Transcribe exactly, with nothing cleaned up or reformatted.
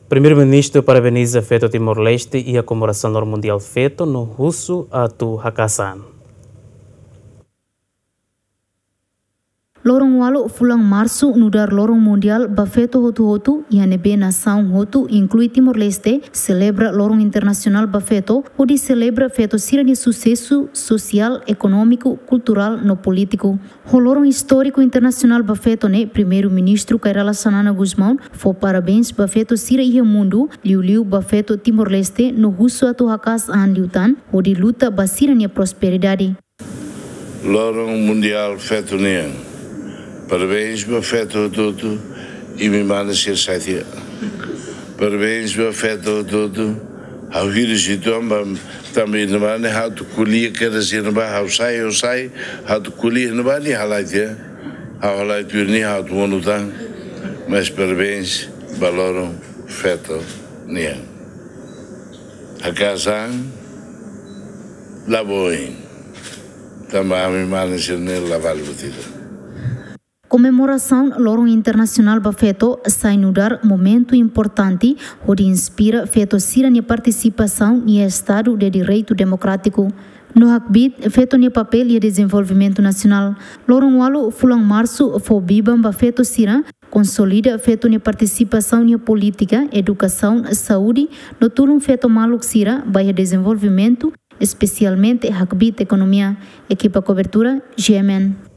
Primeiru-Ministru parabeniza feto Timor-Leste iha komemorasaun Loron Mundiál Feto no husu atu hakas an. Loron ualu fulan Marsu nu'udar Loron Mundiál ba Feto hotu-hotu, iha ne'ebé nasaun hotu, inklui Timor-Leste, selebra Loron Internasionál ba Feto, hodi selebra feto sira-nia susesu sosiál, ekonómiku, kulturál no polítiku. Ho loron istóriku internasionál ba feto ne'e, Primeiru-Ministru Kay Rala Xanana Gusmão fó parabéns ba feto sira iha mundu, liuliu ba feto Timor-Leste, no husu atu hakas an liután, hodi luta ba sira-nia prosperidade. Loron Mundiál Feto nian. Parabéns ba feto hotu-hotu, imi mane sira sai tiha. Parabéns ba feto hotu-hotu. Ha'u hirus uitoan ba, tanba iha ne'ebá ne'e ha'u atu ko'alia kedas iha ne'ebá, ha'u sai, ha'u sai, ha'u atu ko'alia iha ne'ebá nia halai tiha. Ha'u halai tuir nia ha'u atu monu tan. Mas parabéns ba Loron Feto nian. Hakas an, la boin. Tanba ami mane sira-ne'e la vale buat ida. Komemorasaun Loron Internasionál ba Feto sai nu'udar momentu importante hodi inspira feto sira-nia partisipasaun iha Estadu de Direitu Demokrátiku. No hakbiit feto nia papél iha dezenvolvimentu nasionál. Loron ualu fulan Marsu fó biban ba feto sira, konsolida feto nia partisipasaun iha polítika, edukasaun, saúde, no tulun feto maluk sira ba iha dezenvolvimentu, espesialmente hakbiit ekonomia. Ekipa kobertura, G M N.